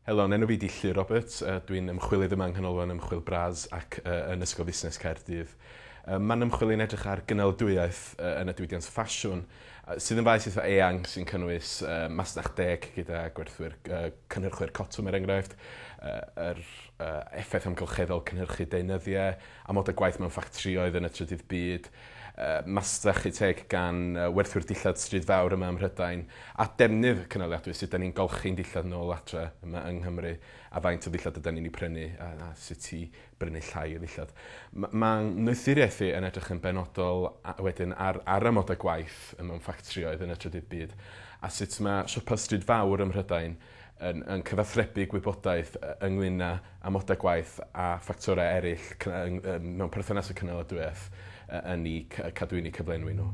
Helo, enw fi 'di Llyr Roberts. Dwi'n ymchwilydd yma yng Nghanolfan Ymchwil Bras ac yn Ysgol Fusnes Caerdydd. Ma'n ymchwil i'n edrych ar gynaliadwyaeth yn y diwydiant ffasiwn, sydd yn faes eitha eang sy'n cynnwys masnach deg gyda gwerthwyr cynhyrchwyr cotwm er enghraifft, yr effaith amgylcheddol cynhyrchu deunyddiau, amodau gwaith mewn ffatrïoedd yn y trydydd byd, masnachu teg gan werthwyr dillad stryd fawr yma ym Mhrydain, a defnydd cynaliadwy, sut 'dan ni'n golchi'n dillad nôl adre yma yng Nghymru, a faint o ddillad ydan ni'n 'u prynu, a sut i brynu llai o ddillad. Ma'n wneuthuriaeth i yn edrych yn benodol wedyn ar amodau gwaith mewn ffatrïoedd yn y trydydd byd, a sut ma' siopa stryd fawr ym Mhrydain yn cyfathrebu gwybodaeth ynglyn â amodau gwaith a ffactorau eraill mewn perthynas â cynaladwyaeth yn eu cadwyni cyflenwi nhw.